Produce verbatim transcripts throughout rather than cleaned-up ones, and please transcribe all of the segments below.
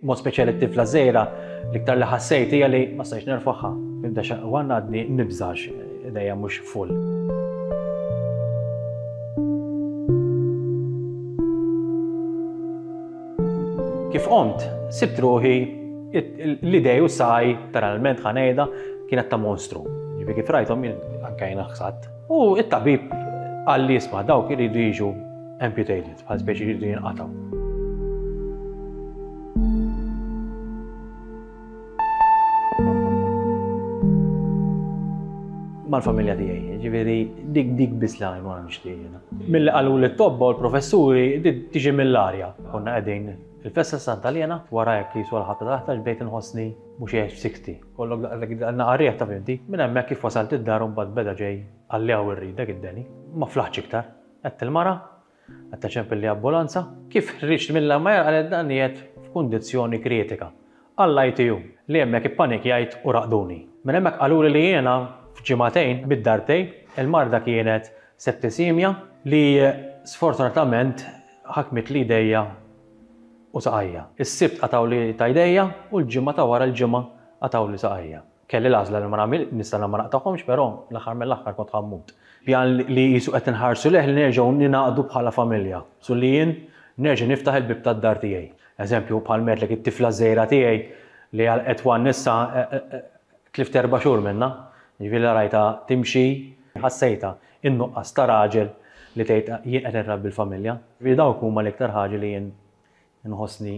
Mod speċjali t-tifla żgħira, l-iktar li ħassejt hija li ma stajtx nerfagħha. Nibda xaqwan għadni nibżax idejja mhux full. Kif qomt, sibt ruħi l-idej u saj, literalment ħa ngħidha, kienet ta' monstru. Ġifieri kif rajthom anke jiena ħsadt. U it-tabib qalli, "Isma', dawk iridu jiġu amputated, bħal speċi jridu jinqatgħu." Mal-familja tiegħi, ġifieri dik dik biss li għajnu nixtieq jiena. Milli qalu li t-tobba u l-professuri tiġi mill-arja. Konna qegħdin il-festa Santa Liena, wara jekk jisu l-ħabta taħta bdejt inħossni mhux sitta. Kollok naqarriħ ta' finti. Minn hemmhekk kif wasalt id-dar mbagħad beda ġej għalli hawn irridek id-deni. Ma flaħx iktar. Għedt il-mara, għedt ċempilli ambulanza. Kif ħriġt mill-MIR qalet dan qiegħed f'kundizzjoni kritika. Għall-I T U li hemmhekk ippanikjajt u raqduni. Minn hemmhekk qaluli li jiena f'ġimagħtejn bid-darbtejn il-marda kienet septisemia li sfortunatament ħakmet li idejja u saqajja. Is-Sibt qatgħuli ta' idejja u l-ġimgħa ta' wara l-ġimgħa qatgħuli saqajja. Kelli l-għażla li ma nagħmel nista' ma naqtagħhomx, però l-aħħar mill-aħħar kont ħa mmut. Pjan li jisu qed inħarsu lejh li nerġgħu ningħaqdu bħala familja. Su li jien nerġa' niftaħ il-bib tad-dar tiegħi. Eżempju, bħal m'għedtlek, it-tifla żgħira tiegħi li għal one issa tlift erba' xhur minna. Ġifieri rajta timxi, ħassejta in-nuqqas ta' raġel li tgħid jien qed nrabbi l-familja. Ġifieri dawk huma l-iktar ħaġa li jien nħossni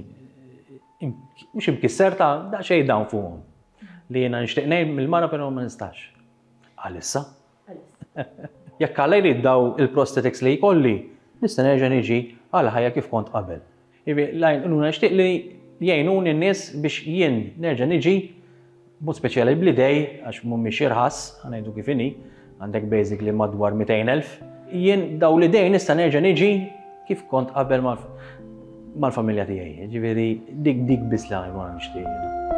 mhux imkisser ta' daqsxejn dawn fuqhom. Li jiena nixtieq ngħid mill-mara, però ma nistax. Għalissa. Jekk Alla jrid, daw il-prosthetics li jkolli, nista' nerġa' niġi għal ħajja kif kont qabel. Lajn, nixtieq li jgħinuni n-nies biex jien nerġa' niġi, mod speċjali bl-idej, għax mhumiex irħas, ħa ngħidu kif inhi, għandek basically madwar mitejn elf. Jien daw l-idej nista' nerġa' niġi kif kont qabel mal-familja tiegħi. Ġifieri dik dik biss li għajnuna nixtieq.